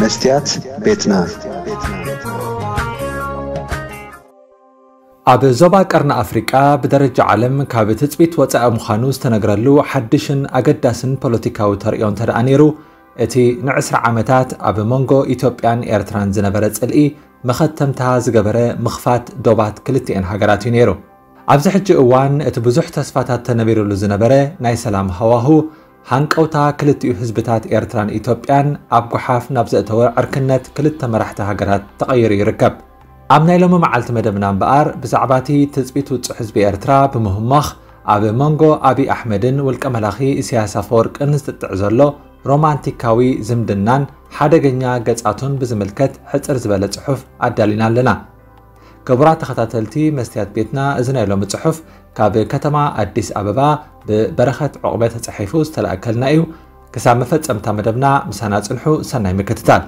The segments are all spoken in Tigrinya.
መስትያት ቤትና። ኣብ ዞባ ቀርኒ ኣፍሪቃ ብደረጃ ዓለም ካብ ትጽቢት ወጻኢ ምዃኑ ዝተነግረሉ ሓድሽን ኣገዳስን ፖለቲካዊ ተርእዮ እንተ ደኣ ነይሩ፣ እቲ ንዕስራ ዓመታት ኣብ መንጎ ኢትዮጵያን ኤርትራን ዝነበረ ጽልኢ መኸተምታ ዝገበረ ምኽፋት ዶባት ክልቲኤን ሃገራት እዩ ነይሩ። ኣብዚ ሕጂ እዋን እቲ ብዙሕ ተስፋታት ተነቢሩሉ ዝነበረ ናይ ሰላም ሃዋሁ፣ ሃንቀውታ ክልቲኡ ህዝብታት ኤርትራን ኢትዮጵያን ኣብ ጓሓፍ ናብ ዘእተወ ዕርክነት ክልተ መራሕቲ ሃገራት ተቐይሩ ይርከብ። ኣብ ናይ ሎሚ መዓልቲ መደብና እምበኣር፣ ብዛዕባ እቲ ትጽቢት ውጹዕ ህዝቢ ኤርትራ ብምህማኽ፣ ኣብ መንጎ ኣብይ ኣሕመድን ውልቀ መላኺ ኢሳያስ ኣፈወርቅን ዝጥጥዕ ዘሎ ሮማንቲካዊ ዝምድናን ሓደገኛ ገጻቱን ብዝምልከት ሕጽር ዝበለ ጽሑፍ ኣዳሊና ኣለና። ክቡራት ተኸታተልቲ መስትያት ቤትና፣ እዚ ናይ ሎሚ ጽሑፍ ካብ ከተማ ኣዲስ ኣበባ ብበረኸት ዑቕበ ተጻሒፉ ዝተላእከልና እዩ። ክሳብ መፈጸምታ መደብና ምሳና ጽንሑ። ሰናይ ምክትታል።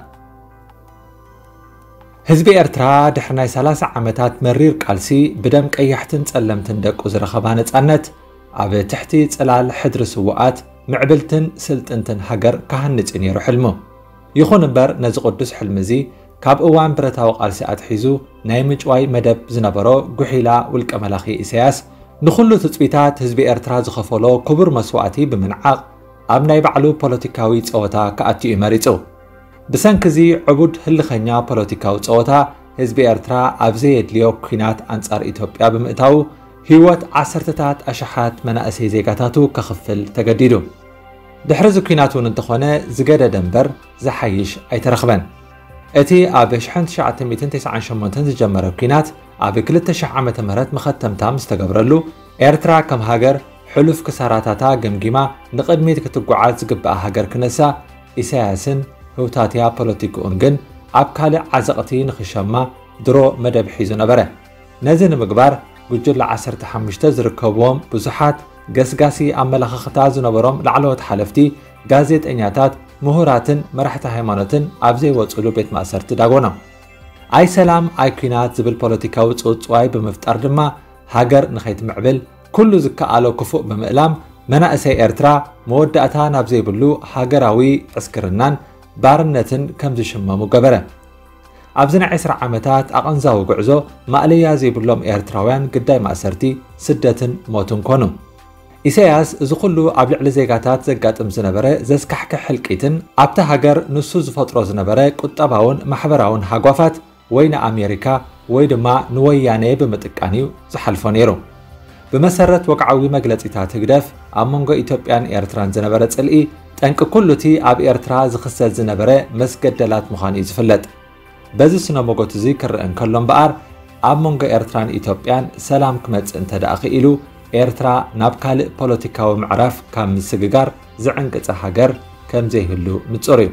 ህዝቢ ኤርትራ ድሕሪ ናይ ሰላሳ ዓመታት መሪር ቃልሲ፣ ብደም ቀያሕትን ጸለምትን ደቁ ዝረኸባ ነጻነት፣ ኣብ ትሕቲ ጽላል ሕድሪ ስዉኣት ምዕብልትን ስልጥንትን ሃገር ክሃንጽ እዩ ነይሩ ሕልሙ። ይኹን እምበር፣ ነዚ ቅዱስ ሕልሚ እዚ ካብ እዋን ብረታዊ ቃልሲ ኣትሒዙ ናይ ምጭዋይ መደብ ዝነበሮ ጉሒላ ውልቀ መላኺ ኢሳያስ፣ ንኹሉ ትጽቢታት ህዝቢ ኤርትራ ዝኸፈሎ ክቡር መስዋእቲ ብምንዓቕ፣ ኣብ ናይ ባዕሉ ፖለቲካዊ ጸወታ ክኣቱ እዩ መሪጹ። ብሰንኪ እዚ ዕቡድ ህልኸኛ ፖለቲካዊ ጸወታ፣ ህዝቢ ኤርትራ ኣብ ዘየድልዮ ኲናት ኣንጻር ኢትዮጵያ ብምእታዉ፣ ህይወት ዓሰርተታት ኣሽሓት መናእሰይ ዜጋታቱ ከኽፍል ተገዲዱ። ድሕሪ እዚ ኲናት እውን እንተኾነ፣ ዝገደደ እምበር ዝሓይሽ ኣይተረኽበን። እቲ ኣብ ሽሕን ትሽዓተ ሚእትን ተስዓን ሸሞንተን ዝጀመረ ኲናት፣ ኣብ ክልተ ሽሕ ዓመተ ምህረት መኸተምታ ምስ ተገብረሉ፣ ኤርትራ ከም ሃገር ሕሉፍ ክሳራታታ ገምጊማ ንቕድሚት ክትጓዓዝ ዝግብኣ ሃገር ክነሳ፣ ኢሳያስን ህውታትያ ፖለቲክኡን ግን ኣብ ካልእ ዓዘቕቲ ንኽሸማ ድሮ መደብ ሒዙ ነበረ። ነዚ ንምግባር፣ ጉጅለ ዓሰርተ ሓሙሽተ ዝርከብዎም ብዙሓት ገስጋሲ ኣመለኻኽታ ዝነበሮም ላዕለዎት ሓለፍቲ፣ ጋዜጠኛታት፣ ምሁራትን መራሕቲ ሃይማኖትን ኣብ ዘይወጽሉ ቤት ማእሰርቲ ዳጎኖም። ኣይ ሰላም ኣይ ኲናት ዝብል ፖለቲካዊ ጽውጽዋይ ብምፍጣር ድማ፣ ሃገር ንኸይትምዕብል ኩሉ ዝከኣሎ ክፉእ ብምእላም፣ መናእሰይ ኤርትራ መወዳእታ ናብ ዘይብሉ ሃገራዊ ዕስክርናን ባርነትን ከም ዝሽመሙ ገበረ። ኣብዚ ናይ ዕስራ ዓመታት ኣቐንዛዊ ጉዕዞ፣ ማእለያ ዘይብሎም ኤርትራውያን ግዳይ ማእሰርቲ፣ ስደትን ሞትን ኮኑ። ኢሳያስ፣ እዚ ኩሉ ኣብ ልዕሊ ዜጋታት ዘጋጥም ዝነበረ ዘስካሕክሕ ህልቂትን ኣብታ ሃገር ንሱ ዝፈጥሮ ዝነበረ ቁጠባውን ማሕበራውን ሃጓፋት፣ ወይ ንኣሜሪካ ወይ ድማ ንወያነ ብምጥቃን እዩ ዝሓልፎ ነይሩ። ብመሰረት ወግዓዊ መግለጺታት ህግደፍ፣ ኣብ መንጎ ኢትዮጵያን ኤርትራን ዝነበረ ጽልኢ፣ ጠንቂ ኩሉ እቲ ኣብ ኤርትራ ዝኽሰት ዝነበረ መስገደላት ምዃኑ እዩ ዝፍለጥ። በዚ ስነ ሞጎት እዚ ክረአ እንከሎ እምበኣር፣ ኣብ መንጎ ኤርትራን ኢትዮጵያን ሰላም ክመጽእ እንተ ደኣ ክኢሉ፣ ኤርትራ ናብ ካልእ ፖለቲካዊ ምዕራፍ ካብ ምስግጋር ዝዕንቅጸ ሃገር ከም ዘይህሉ ንጹር እዩ።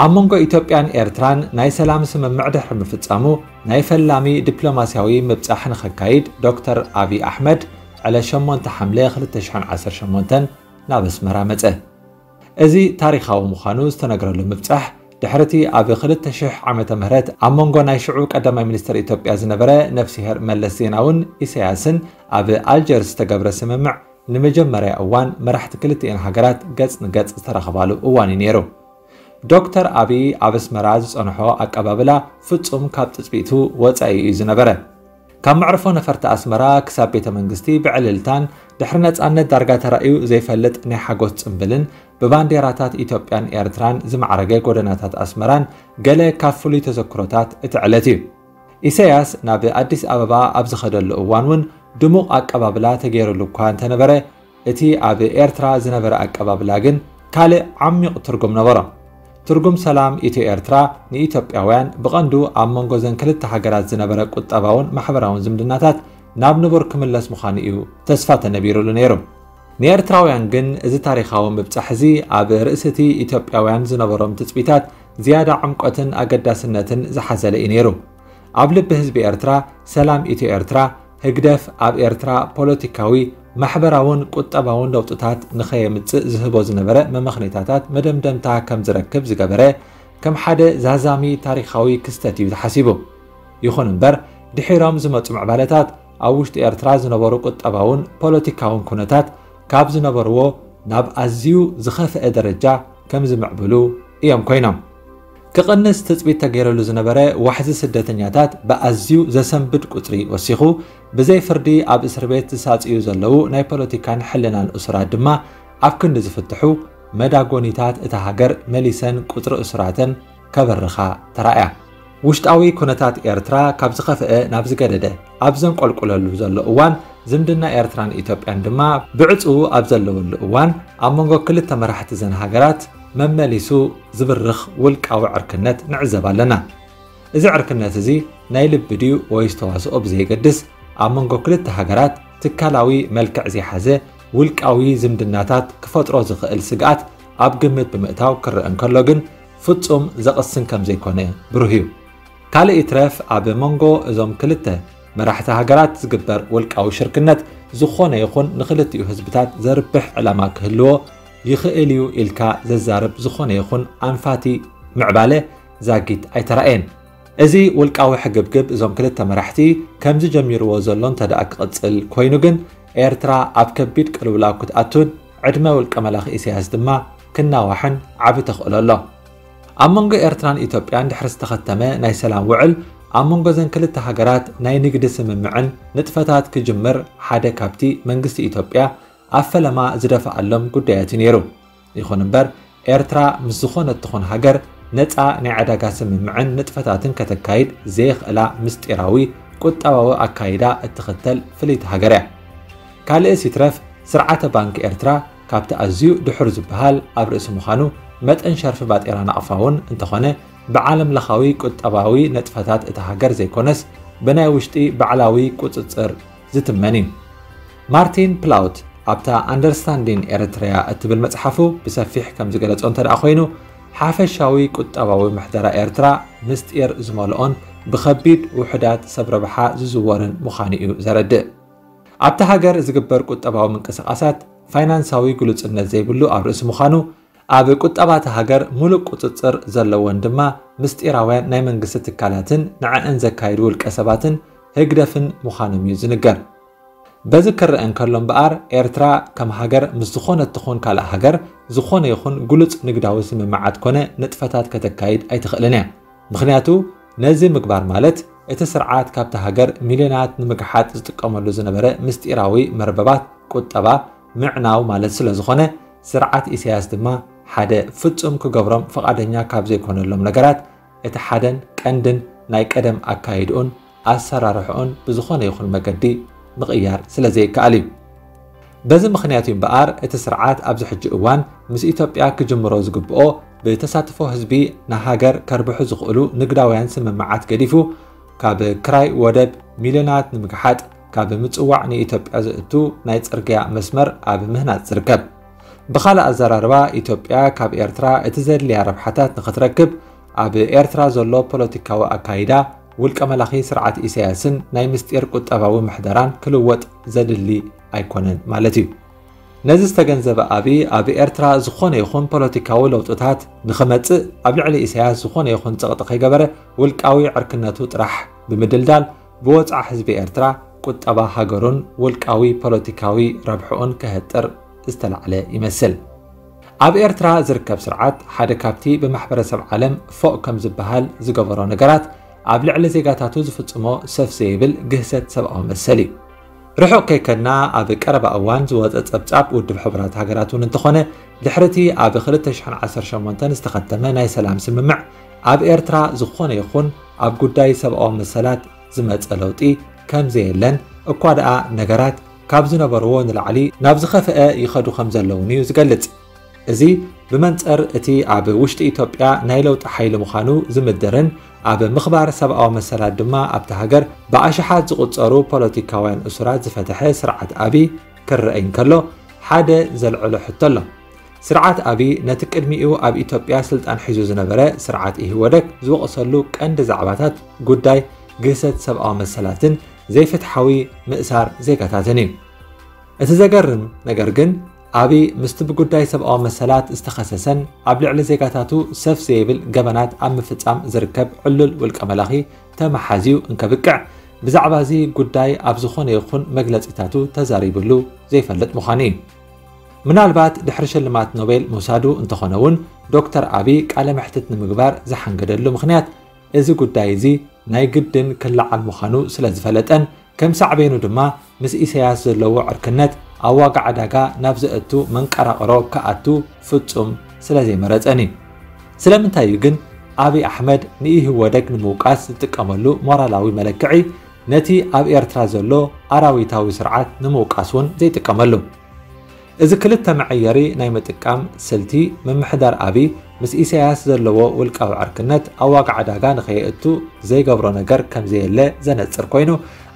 ኣብ መንጎ ኢትዮጵያን ኤርትራን ናይ ሰላም ስምምዕ ድሕሪ ምፍጻሙ፣ ናይ ፈላሚ ዲፕሎማስያዊ ምብጻሕ ንኸካይድ ዶክተር ኣብይ ኣሕመድ ዕለት ሸሞንተ ሓምለ ክልተ ሽሕን ዓሰርተ ሸሞንተን ናብ ኣስመራ መጸ። እዚ ታሪኻዊ ምዃኑ ዝተነግረሉ ምብጻሕ፣ ድሕሪ እቲ ኣብ ክልተ ሽሕ ዓመተ ምህረት ኣብ መንጎ ናይ ሽዑ ቀዳማይ ሚኒስትር ኢትዮጵያ ዝነበረ ነፍስሄር መለስ ዜናውን ኢሳያስን ኣብ ኣልጀርስ ዝተገብረ ስምምዕ፣ ንመጀመርያ እዋን መራሕቲ ክልቲኤን ሃገራት ገጽ ንገጽ ዝተራኸባሉ እዋን እዩ ነይሩ። ዶክተር ኣብይ ኣብ ኣስመራ ዝጸንሖ ኣቀባብላ ፍጹም ካብ ትጽቢቱ ወጻኢ እዩ ዝነበረ። ካብ መዕርፎ ነፈርቲ ኣስመራ ክሳብ ቤተ መንግስቲ ብዕልልታን ድሕሪ ነጻነት ዳርጋ ተራእዩ ዘይፈልጥ ናይ ሓጎስ ጽምብልን ብባንዴራታት ኢትዮጵያን ኤርትራን ዝማዕረገ ጎደናታት ኣስመራን ገለ ካብ ፍሉይ ተዘክሮታት እቲ ዕለት እዩ። ኢሳያስ ናብ ኣዲስ ኣበባ ኣብ ዝኸደሉ እዋን እውን ድሙቕ ኣቀባብላ ተገይሩሉ እኳ እንተነበረ፣ እቲ ኣብ ኤርትራ ዝነበረ ኣቀባብላ ግን ካልእ ዓሚቕ ትርጉም ነበሮ። ትርጉም ሰላም ኢትዮ ኤርትራ ንኢትዮጵያውያን ብቐንዱ ኣብ መንጎ ዘን ክልተ ሃገራት ዝነበረ ቁጠባውን ማሕበራውን ዝምድናታት ናብ ንቡር ክምለስ ምዃኑ እዩ ተስፋ ተነቢሩሉ ነይሩ። ንኤርትራውያን ግን እዚ ታሪኻዊ ምብጻሕ እዚ ኣብ ርእሲ እቲ ኢትዮጵያውያን ዝነበሮም ትጽቢታት ዝያዳ ዕምቆትን ኣገዳስነትን ዝሓዘለ እዩ ነይሩ። ኣብ ልቢ ህዝቢ ኤርትራ፣ ሰላም ኢትዮ ኤርትራ፣ ህግደፍ ኣብ ኤርትራ ፖለቲካዊ፣ ማሕበራውን ቁጠባውን ለውጥታት ንኸየምጽእ ዝህቦ ዝነበረ መመኽነይታታት መደምደምታ ከም ዝረክብ ዝገበረ ከም ሓደ ዛዛሚ ታሪኻዊ ክስተት እዩ ተሓሲቡ። ይኹን እምበር፣ ድሒሮም ዝመጹ ምዕባለታት ኣብ ውሽጢ ኤርትራ ዝነበሩ ቁጠባውን ፖለቲካውን ኩነታት ካብ ዝነበርዎ ናብ ኣዝዩ ዝኸፍአ ደረጃ ከም ዝምዕብሉ እዮም ኮይኖም። ክቕንስ ትጽቢት ተገይረሉ ዝነበረ ዋሕዚ ስደተኛታት ብኣዝዩ ዘሰንብድ ቁጽሪ ወሲኹ፣ ብዘይ ፍርዲ ኣብ እስር ቤት ዝሳጽዩ ዘለዉ ናይ ፖለቲካን ሕልናን እሱራት ድማ ኣብ ክንዲ ዝፍትሑ፣ መዳጎኒታት እታ ሃገር መሊሰን ቁጽሪ እሱራተን ከበርኻ ተራእያ። ውሽጣዊ ኩነታት ኤርትራ ካብ ዝኸፍአ ናብ ዝገደደ ኣብ ዘንቆልቁለሉ ዘሎ እዋን፣ ዝምድና ኤርትራን ኢትዮጵያን ድማ ብዕጽዉ ኣብ ዘለወሉ እዋን፣ ኣብ መንጎ ክልተ መራሕቲ ዘን ሃገራት መመሊሱ ዝብርኽ ውልቃዊ ዕርክነት ንዕዘብ ኣለና። እዚ ዕርክነት እዚ ናይ ልቢ ድዩ ወይስ ተዋስኦ ብዘየገድስ፣ ኣብ መንጎ ክልተ ሃገራት ትካላዊ መልክዕ ዘይሓዘ ውልቃዊ ዝምድናታት ክፈጥሮ ዝኽእል ስግኣት ኣብ ግምት ብምእታው ክረአ እንከሎ ግን፣ ፍጹም ዘቕስን ከም ዘይኮነ ብሩህ እዩ። ካልእ ይትረፍ፣ ኣብ መንጎ እዞም ክልተ መራሕቲ ሃገራት ዝግበር ውልቃዊ ሽርክነት ዝኾነ ይኹን ንኽልቲኡ ህዝብታት ዘርብሕ ዕላማ ክህልዎ ይኽእል እዩ ኢልካ ዘዛርብ ዝኾነ ይኹን ኣንፋቲ ምዕባለ ዛጊት ኣይተራእየን። እዚ ውልቃዊ ሕግብግብ እዞም ክልተ መራሕቲ ከምዚ ጀሚርዎ ዘሎ እንተ ደኣ ክቕጽል ኮይኑ ግን፣ ኤርትራ ኣብ ከቢድ ቅልውላው ክትኣቱን ዕድመ ውልቀ መላኺ ኢሳያስ ድማ ክናዋሕን ዓቢ ተኽእሎ ኣሎ። ኣብ መንጎ ኤርትራን ኢትዮጵያን ድሕሪ ዝተኸተመ ናይ ሰላም ውዕል፣ ኣብ መንጎ ዘን ክልተ ሃገራት ናይ ንግዲ ስምምዕን ንጥፈታት ክጅምር ሓደ ካብቲ መንግስቲ ኢትዮጵያ ኣብ ፈለማ ዝደፍኣሎም ጉዳያት እዩ ነይሩ። ይኹን እምበር፣ ኤርትራ ምስ ዝኾነት ትኹን ሃገር ነጻ ናይ ዕዳጋ ስምምዕን ንጥፈታትን ከተካይድ ዘየኽእላ ምስጢራዊ ቁጠባዊ ኣካይዳ እትኽተል ፍልይቲ ሃገር እያ። ካልእስ ይትረፍ፣ ስርዓተ ባንክ ኤርትራ ካብቲ ኣዝዩ ድሑር ዝበሃል ኣብ ርእሲ ምዃኑ፣ መጠን ሸርፊ ባጤራ ናቕፋ እውን እንተኾነ፣ ብዓለም ለኻዊ ቁጠባዊ ንጥፈታት እታ ሃገር ዘይኮነስ፣ ብናይ ውሽጢ ባዕላዊ ቁጽጽር ዝትመን እዩ። ማርቲን ፕላውት ኣብታ ኣንደርስታንዲን ኤርትሪያ እትብል መጽሓፉ ብሰፊሕ ከም ዝገለጾ እንተ ደኣ ኮይኑ፣ ሓፈሻዊ ቁጠባዊ ምሕደራ ኤርትራ ምስጢር ዝመልኦን ብኸቢድ ውሑዳት ሰብ ረብሓ ዝዝወርን ምዃኑ እዩ ዘረድእ። ኣብታ ሃገር ዝግበር ቁጠባዊ ምንቅስቓሳት ፋይናንሳዊ ግሉጽነት ዘይብሉ ኣብ ርእሲ ምዃኑ፣ ኣብ ቁጠባ እታ ሃገር ምሉእ ቁጽጽር ዘለወን ድማ ምስጢራውያን ናይ መንግስቲ ትካላትን ንዐአን ዘካይዱ ውልቀ ሰባትን ህግደፍን ምዃኖም እዩ ዝንገር። በዚ ክረአ እንከሎ እምበኣር፣ ኤርትራ ከም ሃገር ምስ ዝኾነት ትኹን ካልእ ሃገር ዝኾነ ይኹን ግሉጽ ንግዳዊ ስምምዓት ኮነ ንጥፈታት ከተካይድ ኣይትኽእልን እያ። ምኽንያቱ፣ ነዚ ምግባር ማለት እቲ ስርዓት ካብቲ ሃገር ሚልዮናት ንምግሓጥ ዝጥቀመሉ ዝነበረ ምስጢራዊ መርበባት ቁጠባ ምዕናው ማለት ስለ ዝኾነ፣ ስርዓት ኢሳያስ ድማ ሓደ ፍጹም ክገብሮም ፍቓደኛ ካብ ዘይኮነሎም ነገራት እቲ ሓደን ቀንድን ናይ ቀደም ኣካይድኡን ኣሰራርሕኡን ብዝኾነ ይኹን መገዲ ምቕያር ስለ ዘይከኣል እዩ። በዚ ምኽንያት እዩ እምበኣር እቲ ስርዓት ኣብዚ ሕጂ እዋን ምስ ኢትዮጵያ ክጅምሮ ዝግብኦ ብተሳትፎ ህዝቢ ንሃገር ከርብሑ ዝኽእሉ ንግዳውያን ስምምዓት ገዲፉ ካብ ክራይ ወደብ ሚልዮናት ንምግሓጥ ካብ ምጽዋዕ ንኢትዮጵያ ዘእቱ ናይ ጽርግያ መስመር ኣብ ምህናጽ ዝርከብ። ብኻልእ ኣዘራርባ ኢትዮጵያ ካብ ኤርትራ እቲ ዘድልያ ረብሓታት ንኽትረክብ ኣብ ኤርትራ ዘሎ ፖለቲካዊ ኣካይዳ ውልቀ መላኺ ስርዓት ኢሳያስን ናይ ምስጢር ቁጠባዊ ምሕደራን ክልወጥ ዘድሊ ኣይኮነን ማለት እዩ። ነዚ ዝተገንዘበ ኣብይ ኣብ ኤርትራ ዝኾነ ይኹን ፖለቲካዊ ለውጥታት ንኽመጽእ ኣብ ልዕሊ ኢሳያስ ዝኾነ ይኹን ጸቕጢ ከይገበረ ውልቃዊ ዕርክነቱ ጥራሕ ብምድልዳል ብወጽዓ ህዝቢ ኤርትራ ቁጠባ ሃገሩን ውልቃዊ ፖለቲካዊ ረብሕኡን ከህጥር ዝተላዕለ ይመስል። ኣብ ኤርትራ ዝርከብ ስርዓት ሓደ ካብቲ ብማሕበረሰብ ዓለም ፎእ ከም ዝበሃል ዝገበሮ ነገራት ኣብ ልዕሊ ዜጋታቱ ዝፍጽሞ ሰፍ ዘይብል ግህሰት ሰብኣዊ መሰል እዩ። ርሑቕ ከይከድና ኣብ ቀረባ እዋን ዝወጸ ጸብጻብ ውድብ ሕቡራት ሃገራት እውን እንተኾነ ድሕርቲ ኣብ ክልተ ሽሕን ዓሰርተ ሸሞንተን ዝተኸተመ ናይ ሰላም ስምምዕ ኣብ ኤርትራ ዝኾነ ይኹን ኣብ ጉዳይ ሰብኣዊ መሰላት ዝመጸ ለውጢ ከም ዘየለን እኳ ደኣ ነገራት ካብ ዝነበርዎ ንላዕሊ ናብ ዝኸፍአ ይኸዱ ከም ዘለውን እዩ ዝገልጽ። እዚ ብመንጽር እቲ ኣብ ውሽጢ ኢትዮጵያ ናይ ለውጢ ሓይሊ ምዃኑ ዝምድርን ኣብ ምኽባር ሰብኣዊ መሰላት ድማ ኣብታ ሃገር ብኣሽሓት ዝቑጸሩ ፖለቲካውያን እሱራት ዝፈትሐ ስርዓት ኣብይ ክረኣይ እንከሎ ሓደ ዘልዕሎ ሕቶ ኣሎ። ስርዓት ኣብይ ነቲ ቅድሚኡ ኣብ ኢትዮጵያ ስልጣን ሒዙ ዝነበረ ስርዓት ኢህወደግ ዝወቕሰሉ ቀንዲ ዛዕባታት ጉዳይ ግህሰት ሰብኣዊ መሰላትን ዘይፍትሓዊ ምእሳር ዜጋታትን እዩ። እቲ ዘገርም ነገር ግን ኣብይ ምስቲ ብጉዳይ ሰብኣዊ መሰላት ዝተኸሰሰን ኣብ ልዕሊ ዜጋታቱ ሰፍ ዘይብል ገበናት ኣብ ምፍጻም ዝርከብ ዕሉል ውልቀ መላኺ ተመሓዝዩ እንከብቅዕ ብዛዕባ እዚ ጉዳይ ኣብ ዝኾነ ይኹን መግለጺታቱ ተዛሪብሉ ዘይፈልጥ ምዃኑ እዩ። ምናልባት ድሕሪ ሽልማት ኖቤል ምውሳዱ እንተኾነ እውን፣ ዶክተር ኣቢ ቃለ መሕትት ንምግባር ዝሓንገደሉ ምኽንያት፣ እዚ ጉዳይ እዚ ናይ ግድን ክለዓል ምዃኑ ስለ ዝፈለጠን፣ ከም ሳዕቤኑ ድማ ምስ ኢሳያስ ዘለዎ ዕርክነት ኣብ ዋጋ ዕዳጋ ናብ ዘእቱ መንቀራቕሮ ክኣቱ ፍጹም ስለ ዘይመረጸን እዩ። ስለምንታይ እዩ ግን ኣቢ ኣሕመድ ንኢህወደግ ንምውቃስ ዝጥቀመሉ ሞራላዊ መለክዒ፣ ነቲ ኣብ ኤርትራ ዘሎ ኣራዊታዊ ስርዓት ንምውቃስ እውን ዘይጥቀመሉ? እዚ ክልተ መዐየሪ ናይ ምጥቃም ስልቲ፣ ምምሕዳር ኣቢ ምስ ኢሳያስ ዘለዎ ውልቃዊ ዕርክነት ኣብ ዋጋ ዕዳጋ ንኸየእቱ ዘይገብሮ ነገር ከም ዘየለ ዘነጽር ኮይኑ፣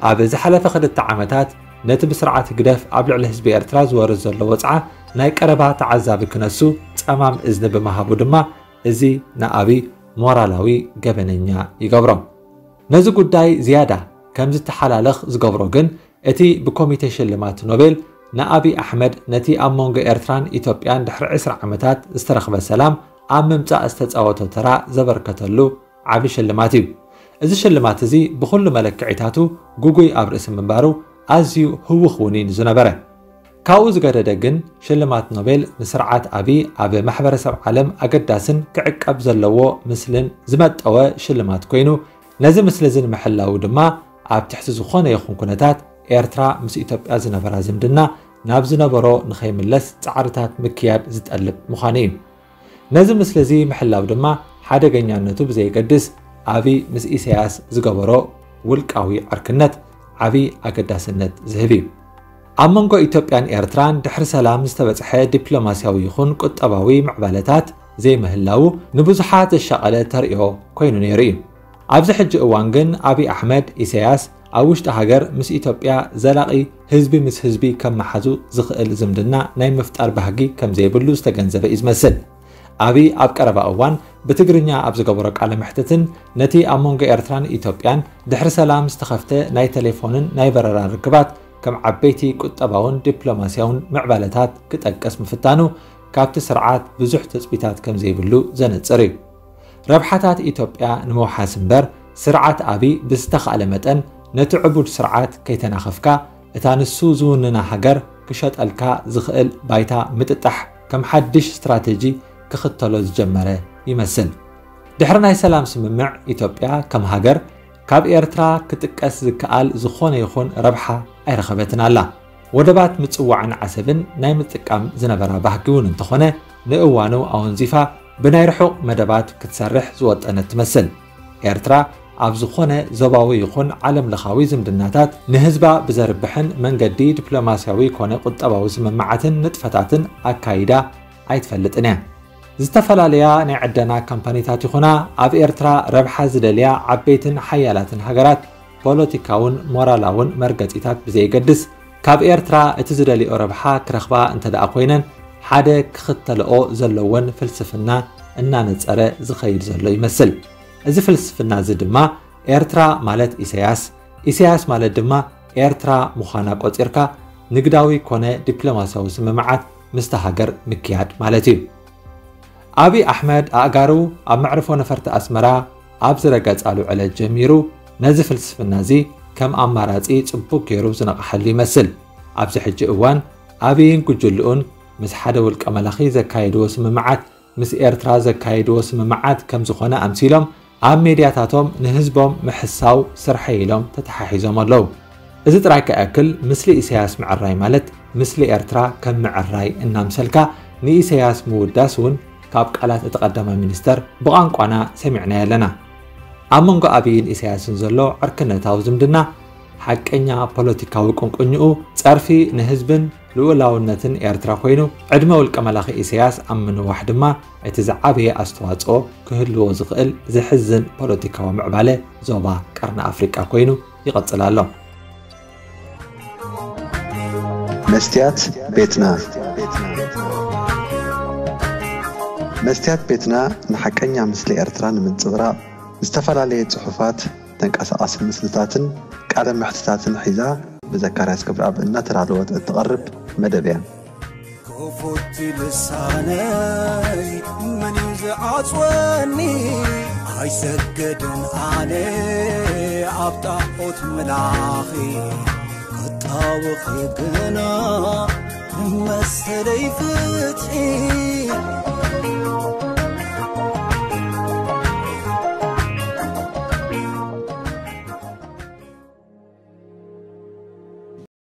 ኣብ ዝሓለፈ ክልተ ዓመታት ነቲ ብስርዓት ህግደፍ ኣብ ልዕሊ ህዝቢ ኤርትራ ዝወርድ ዘሎ ወጽዓ ናይ ቀረባ ተዓዛቢ ክነሱ ጸማም እዝኒ ብምሃቡ ድማ፣ እዚ ንኣቢ ሞራላዊ ገበነኛ ይገብሮ። ነዚ ጉዳይ ዝያዳ ከም ዝተሓላለኽ ዝገብሮ ግን፣ እቲ ብኮሚቴ ሽልማት ኖቤል ንኣቢ ኣሕመድ ነቲ ኣብ መንጎ ኤርትራን ኢትዮጵያን ድሕሪ ዕስራ ዓመታት ዝተረኽበ ሰላም ኣብ ምምጻእ ዝተጻወቶ ተራ ዘበርከተሉ ዓቢ ሽልማት እዩ። እዚ ሽልማት እዚ ብኹሉ መለክዒታቱ ግጉይ ኣብ ርእሲ ምንባሩ፣ ኣዝዩ ህውኽ እውን እዩ ዝነበረ። ካብኡ ዝገደደ ግን፣ ሽልማት ኖቤል ንስርዓት ኣቢ ኣብ ማሕበረሰብ ዓለም ኣገዳስን ክዕቀብ ዘለዎ ምስልን ዝመጠወ ሽልማት ኮይኑ፣ ነዚ ምስሊ እዚ ንምሕላው ድማ፣ ኣብ ትሕቲ ዝኾነ ይኹን ኩነታት፣ ኤርትራ ምስ ኢትዮጵያ ዝነበራ ዝምድና ናብ ዝነበሮ ንኸይምለስ ጻዕርታት ምክያድ ዝጠልብ ምዃኑ እዩ። ነዚ ምስሊ እዚ ምሕላው ድማ፣ ሓደገኛነቱ ብዘየገድስ፣ ኣቢ ምስ ኢሳያስ ዝገበሮ ውልቃዊ ዕርክነት ዓቢ ኣገዳስነት ዝህብ እዩ። ኣብ መንጎ ኢትዮጵያን ኤርትራን ድሕሪ ሰላም ዝተበጽሐ ዲፕሎማስያዊ ይኹን ቁጠባዊ ምዕባለታት ዘይምህላዉ፣ ንብዙሓት ዘሻቐለ ተርእዮ ኮይኑ ነይሩ እዩ። ኣብዚ ሕጂ እዋን ግን፣ ኣቢ ኣሕመድ፣ ኢሳያስ ኣብ ውሽጢ ሃገር ምስ ኢትዮጵያ ዘላቒ ህዝቢ ምስ ህዝቢ ከመሓዙ ዝኽእል ዝምድና ናይ ምፍጣር ባህጊ ከም ዘይብሉ ዝተገንዘበ እዩ ዝመስል። ኣቢ ኣብ ቀረባ እዋን ብትግርኛ ኣብ ዝገበሮ ቃለ መሕትትን፣ ነቲ ኣብ መንጎ ኤርትራን ኢትዮጵያን ድሕሪ ሰላም ዝተኸፍተ ናይ ቴሌፎንን ናይ በረራ ርክባት ከም ዓበይቲ ቁጠባውን ዲፕሎማስያውን ምዕባለታት ክጠቅስ ምፍታኑ፣ ካብቲ ስርዓት ብዙሕ ትጽቢታት ከም ዘይብሉ ዘነጽር እዩ። ረብሓታት ኢትዮጵያ ንምውሓስ እምበር፣ ስርዓት ኣቢ ብዝተኻእለ መጠን ነቲ ዕቡድ ስርዓት ከይተናኸፍካ፣ እታ ንሱ ዝውንና ሃገር ክሸጠልካ ዝኽእል ባይታ ምጥጣሕ ከም ሓድሽ ስትራተጂ ክኽተሎ ዝጀመረ ይመስል። ድሕሪ ናይ ሰላም ስምምዕ፣ ኢትዮጵያ ከም ሃገር ካብ ኤርትራ ክጥቀስ ዝከኣል ዝኾነ ይኹን ረብሓ ኣይረኸበትን ኣላ። ወደባት ምጽዋዕን ዓሰብን ናይ ምጥቃም ዝነበራ ባህጊ እውን እንተኾነ፣ ንእዋኑ ኣወንዚፋ ብናይ ርሑቕ መደባት ክትሰርሕ ዝወጠነት ትመስል። ኤርትራ ኣብ ዝኾነ ዞባዊ ይኹን ዓለም ለኻዊ ዝምድናታት ንህዝባ ብዘርብሕን መንገዲ ዲፕሎማስያዊ ኮነ ቁጠባዊ ስምምዓትን ንጥፈታትን ኣካይዳ ኣይትፈልጥን እያ። ዝተፈላለያ ናይ ዕደና ካምፓኒታት ይኹና ኣብ ኤርትራ ረብሓ ዝደልያ ዓበይትን ሓያላትን ሃገራት ፖለቲካውን ሞራላውን መርገጺታት ብዘየገድስ፣ ካብ ኤርትራ እቲ ዝደልዮ ረብሓ ክረኽባ እንተ ደኣ ኮይነን፣ ሓደ ክኽተልኦ ዘለወን ፍልስፍና እናነጸረ ዝኸይድ ዘሎ ይመስል። እዚ ፍልስፍና እዚ ድማ፣ ኤርትራ ማለት ኢሳያስ፣ ኢሳያስ ማለት ድማ ኤርትራ ምዃና ቆጺርካ፣ ንግዳዊ ኮነ ዲፕሎማስያዊ ስምምዓት ምስታ ሃገር ምክያድ ማለት እዩ። ኣቢ ኣሕመድ ኣእጋሩ ኣብ መዕርፎ ነፈርቲ ኣስመራ ኣብ ዝረገጻሉ ዕለት ጀሚሩ፣ ነዚ ፍልስፍና እዚ ከም ኣማራጺ ጽቡቕ ገይሩ ዝነቕሓሉ ይመስል። ኣብዚ ሕጂ እዋን፣ ኣቢይን ጉጅልኡን ምስ ሓደ ውልቀ መላኺ ዘካየድዎ ስምምዓት፣ ምስ ኤርትራ ዘካየድዎ ስምምዓት ከም ዝኾነ ኣምሲሎም፣ ኣብ ሜድያታቶም ንህዝቦም ምሕሳው ስርሐይ ኢሎም ተተሓሒዞም ኣለዉ። እዚ ጥራይ ከኣክል፣ ምስሊ ኢሳያስ ምዕራይ ማለት፣ ምስሊ ኤርትራ ከም ምዕራይ እናምሰልካ ንኢሳያስ ምውዳስ እውን ካብ ቃላት እቲ ቀዳማይ ሚኒስተር ብቋንቋና ሰሚዕናዮ ኣለና። ኣብ መንጎ ኣቢይን ኢሳያስን ዘሎ ዕርክነታዊ ዝምድና፣ ሓቀኛ ፖለቲካዊ ቁንቁኝኡ፣ ጸርፊ ንህዝብን ልኡላውነትን ኤርትራ ኮይኑ፣ ዕድመ ውልቀ መላኺ ኢሳያስ ኣብ ምንዋሕ ድማ እቲ ዝዓበየ ኣስተዋጽኦ ክህልዎ ዝኽእል ዘሕዝን ፖለቲካዊ ምዕባለ ዞባ ቀርኒ ኣፍሪቃ ኮይኑ ይቐጽል ኣሎ። መስትያት ቤትና። መስትያት ቤትና ንሓቀኛ ምስሊ ኤርትራ ንምንጽብራቕ፣ ዝተፈላለየ ጽሑፋት፣ ተንቀሳቓሲ ምስልታትን ቃለ መሕትታትን ሒዛ ብዘካርያስ ገብረኣብ እናተዳለወት እትቐርብ መደብ እያ። ክፉት ልሳነይ መን እዩ ዝዓጽወኒ? ኣይሰግድን ኣነ ኣብ ጣዖት ምላኺ፣ ክጣወኺ ግና መሰለይ ፍትሒ